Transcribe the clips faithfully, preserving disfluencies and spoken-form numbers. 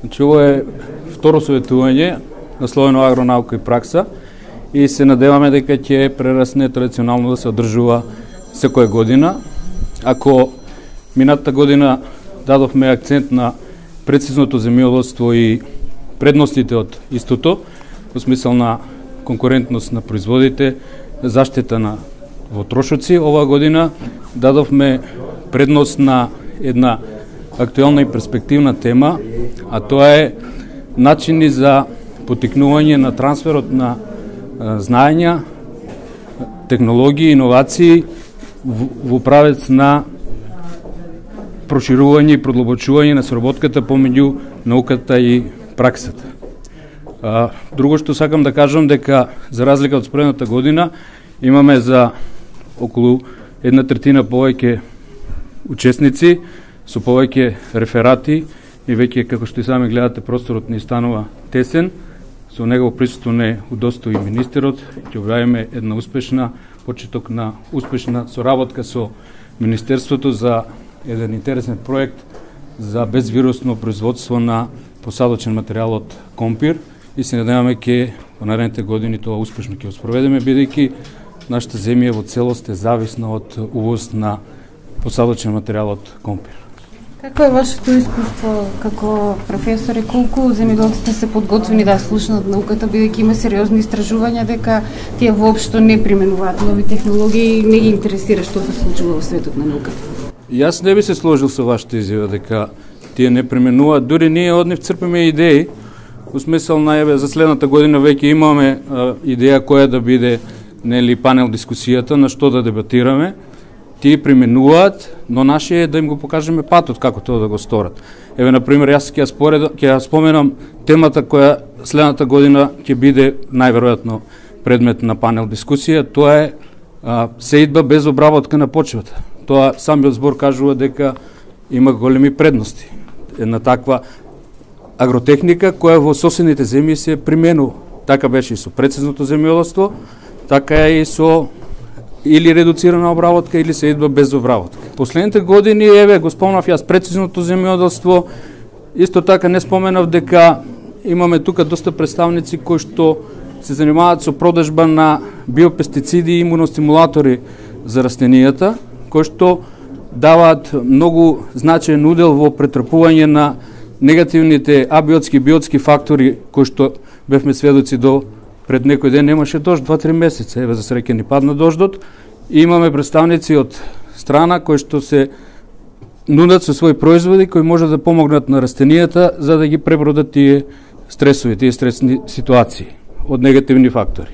Значи, ово е второ советување насловено агронаука и пракса и се надеваме дека ќе прерасне традиционално да се одржува секоја година. Ако минатата година дадовме акцент на прецизното земјоделство и предностите од истото, во смисла на конкурентност на производите, заштита на потрошоци, оваа година дадовме предност на една актуелна и перспективна тема, а тоа е начини за потикнување на трансферот на знаења, технологии, иновации во правец на проширување и продлабочување на соработката помеѓу науката и праксата. А, друго што сакам да кажам дека за разлика од спредната година имаме за околу една третина повеќе учесници со повеќе реферати и веќе, како што и сами гледате, просторот ни станува тесен. Со негово присуство не удостои министерот. Ќе објавиме една успешна почеток на успешна соработка со Министерството за еден интересен проект за безвирусно производство на посадочен материјал од компир и се надеваме ке во наредните години тоа успешно ќе го спроведеме, бидејќи нашата земја во целост е зависна од увоз на посадочен материјал од компир. Какво е вашето искуство како професор и колку земјоделците се подготвени да слушнат науката, бидејќи има сериозни истражувања дека тие воопшто не применуваат нови технологии и не ги интересира што се случува во светот на науката? Јас не би се сложил со вашата изјава дека тие не применуваат, дури ние од нив црпиме идеи, во смисол на еве за следната година веќе имаме а, идеја која да биде нели панел дискусијата на што да дебатираме. Тие применуваат, но наше е да им го покажеме патот како тоа да го сторат. Еве на пример јас ќе ја споредам, ќе ја споменам темата која следната година ќе биде најверојатно предмет на панел дискусија, тоа е а, сеидба без обработка на почвата. Тоа самиот збор кажува дека има големи предности. Една таква агротехника која во соседните земји се применува. Така беше и со прецизното земјоделство, така е и со или редуцирана обработка или сеидба без обработка. Последните години, еве, го спомнав јас прецизното земјоделство, исто така не споменав дека имаме тука доста представници кои што се занимаваат со продажба на биопестициди и имуностимулатори за растенијата, кои што даваат многу значаен удел во претрпување на негативните абиотски и биотски фактори кои што бевме сведоци до пред некој ден. Немаше дожд два-три месеца, еве за среќа ни падна дождот и имаме представници од страна кои што се нудат со своји производи кои може да помогнат на растенијата за да ги пребродат тие стресови, тие стресни ситуации од негативни фактори.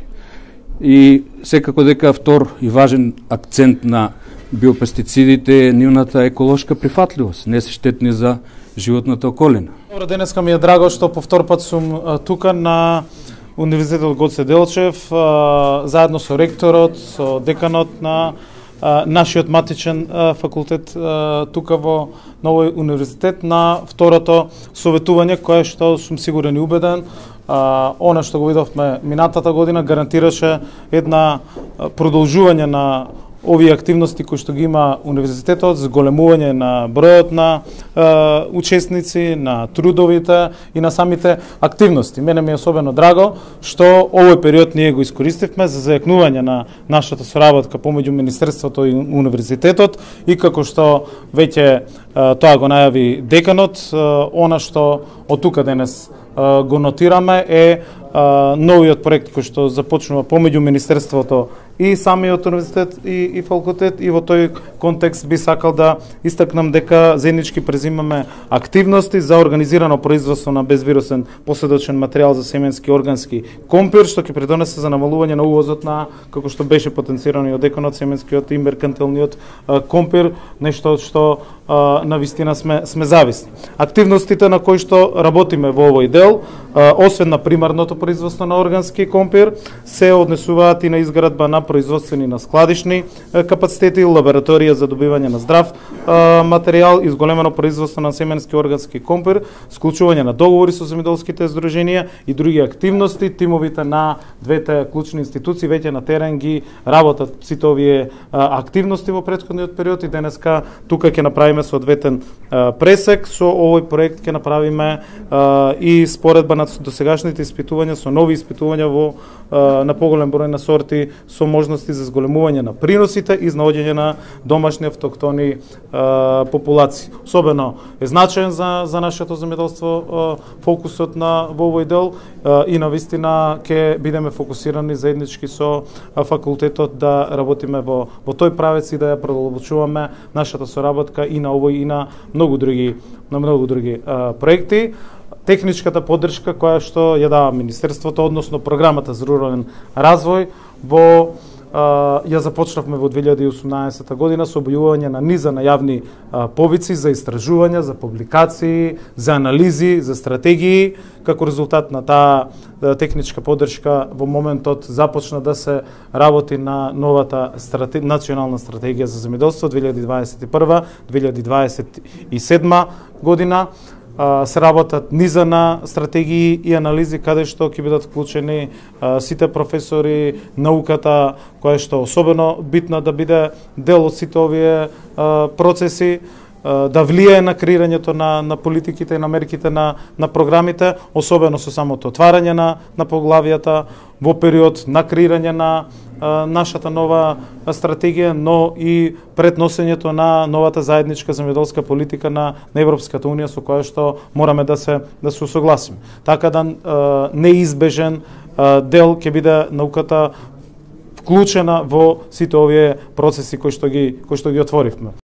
И секако дека втор и важен акцент на биопестицидите е нивната еколошка прифатливост, не се штетни за животната околина. Добро, денеска ми е драго што по втор пат сум тука на Универзитетот Гоце Делчев, заедно со ректорот, со деканот на нашиот матичен факултет тука во Новој универзитет на второто советување кое што сум сигурен и убеден она што го видовме минатата година гарантираше една продолжување на овие активности кои што ги има универзитетот, зголемување на бројот на е, учесници, на трудовите и на самите активности. Мене ми е особено драго што овој период ние го искористивме за зајакнување на нашата соработка помеѓу Министерството и универзитетот и како што веќе е, тоа го најави деканот, е, она што од тука денес е, го нотираме е Uh, новиот проект кој што започнува помеѓу Министерството и самиот универзитет и, и факултет, и во тој контекст би сакал да истакнам дека заеднички презимаме активности за организирано производство на безвирусен посадочен материјал за семенски органски компир, што ќе придонесе за намалување на увозот на, како што беше потенцирано и од деканот, семенскиот и меркантилниот uh, компир, нешто што uh, на вистина сме, сме зависни. Активностите на кои што работиме во овој дел, uh, освен на примарното производство на органски компир, се однесуваат и на изградба на производствени, на складишни капацитети, лабораторија за добивање на здрав материјал, изголемено производство на семенски органски компир, склучување на договори со земјоделските здруженија и други активности. Тимовите на двете клучни институции веќе на терен ги работат сите овие активности во претходниот период и денеска тука ќе направиме соодветен пресек. Со овој проект ќе направиме и споредба на досегашните испитувања со нови испитувања во на поголем број на сорти со можности за зголемување на приносите и наоѓање на домашни автоктони популации. Особено е значаен за за нашето земјоделство фокусот на во овој дел и на вистина ќе бидеме фокусирани заеднички со факултетот да работиме во во тој правец и да ја продолбочуваме нашата соработка и на овој и на многу други на многу други а, проекти. Техничката поддршка која што ја дава Министерството, односно програмата за рурален развој, во а, ја започнавме во две илјади и осумнаесета година со објавување на низа на јавни а, повици за истражувања, за публикации, за анализи, за стратегии. Како резултат на таа техничка поддршка во моментот започна да се работи на новата страте... национална стратегија за земјоделство две илјади дваесет и прва - две илјади дваесет и седма година. Се работат низа на стратегии и анализи каде што ќе бидат вклучени сите професори, науката која што особено битна да биде дел од сите овие процеси, да влијае на креирањето на, на политиките и на мерките на, на програмите, особено со самото отварање на, на поглавијата во период на креирање на а, нашата нова стратегија, но и пред носењето на новата заедничка земјоделска политика на, на Европската унија со која што мораме да се да се усогласиме. Така да а, неизбежен а, дел ќе биде науката вклучена во сите овие процеси кои што ги кои што ги отворивме.